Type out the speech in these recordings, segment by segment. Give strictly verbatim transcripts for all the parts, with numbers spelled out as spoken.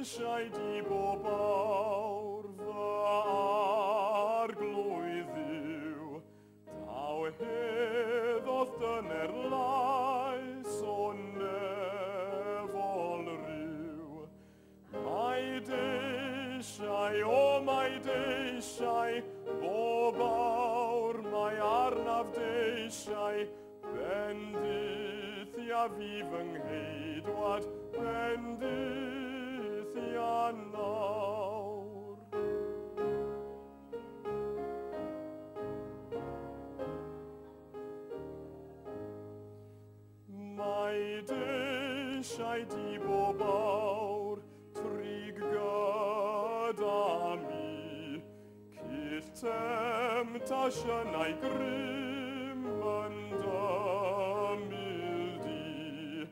eisiau di bob awr fy arglwydd Dduw, daw heddodd dyner lais o nefol ryw. Mae deisiau, o mae deisiau, bob awr mae arnaf deisiau, bendithia fi fy ngheidwad, bendithia nawr. Mae deisiau di bob awr, trig gyda mi, cyll temtasiynau grym yn dymil di.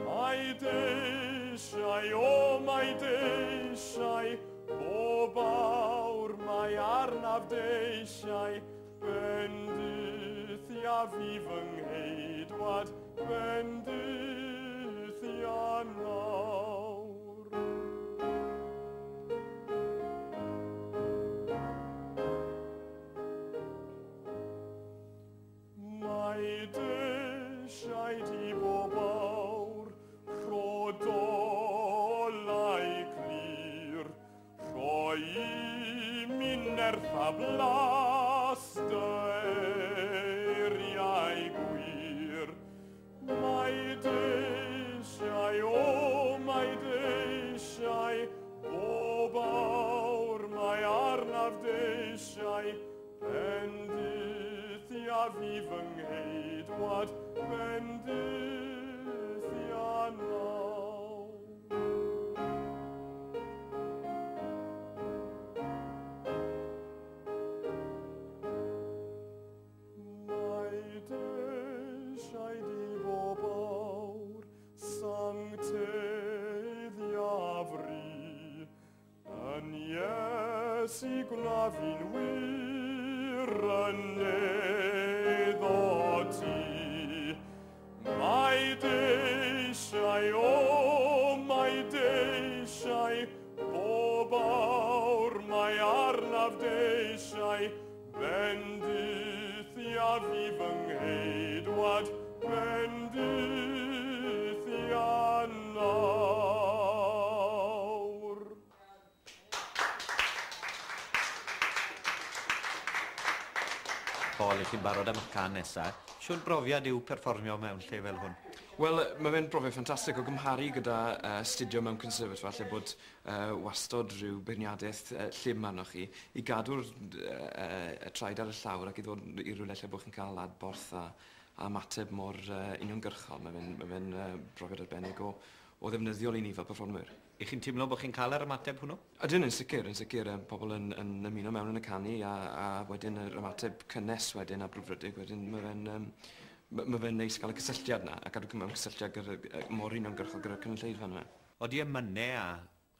Mae deisiau, o mae deisiau, bob awr mae arnaf deisiau, bendithia fi fy ngheidwad, bendithia nawr. Mae deisiau di bob awr, rho dolau clir, rhoi i mi nerth a blas dy eiriau gwir. Mae deisiau, o mae deisiau, bob awr mae arnaf deisiau, bendithia fi fy ngheidwad, bendithia nawr. Mae deisiau di bob awr, sancteiddia fri, yn Iesu gwna fi'n wir yn eiddo ti. Mae deisiau, o mae deisiau, bob awr mae arnaf deisiau, bendithia fi fy ngheidwad, bendithia nawr. Paul, i chi'n barod am y can nesaf. Siwr brofiad yw perfformio mewn lle fel hwn? Wel, mae fe'n brofiad ffantastig o gymharu gyda uh, astudio mewn conservatoire, lle bod uh, wastod rhyw beirniadaeth uh, llym arnoch chi, i gadw'r uh, y traed ar y llawr ac i ddod i rywle lle bod chi'n cael adborth a, a ymateb mor uh, uniongyrchol. Mae fe'n ma fe uh, brofiad arbennig o, o ddefnyddiol i ni fel perfformwyr. I chi'n teimlo bod chi'n cael yr ymateb hwnnw? Ydyn, yn sicr, yn sicr. Pobl yn, yn ymuno mewn yn y canu a, a wedyn yr ymateb cynnes wedyn a brwdfrydig wedyn mae fe'n um, ma fe'n neis cael y cysylltiad na a cadw mewn cysylltiad gyda, mor uniongyrchol gyda'r cynulleidfa yna. Odi emynau a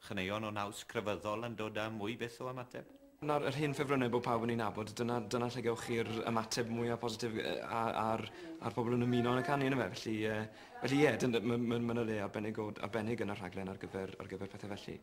chaneuon o naws crefyddol yn dod â mwy byth o ymateb? Na'r yr hen ffefrynnau bod pawb yn ei nabod, dyna, dyna lle gewch chi'r ymateb mwyaf positif a'r, a'r pobl yn ymuno yn y canu yna fe. Felly, felly ie, mae ma, ma, ma le arbennig, o, arbennig yn y rhaglen ar gyfer, ar gyfer pethau felly.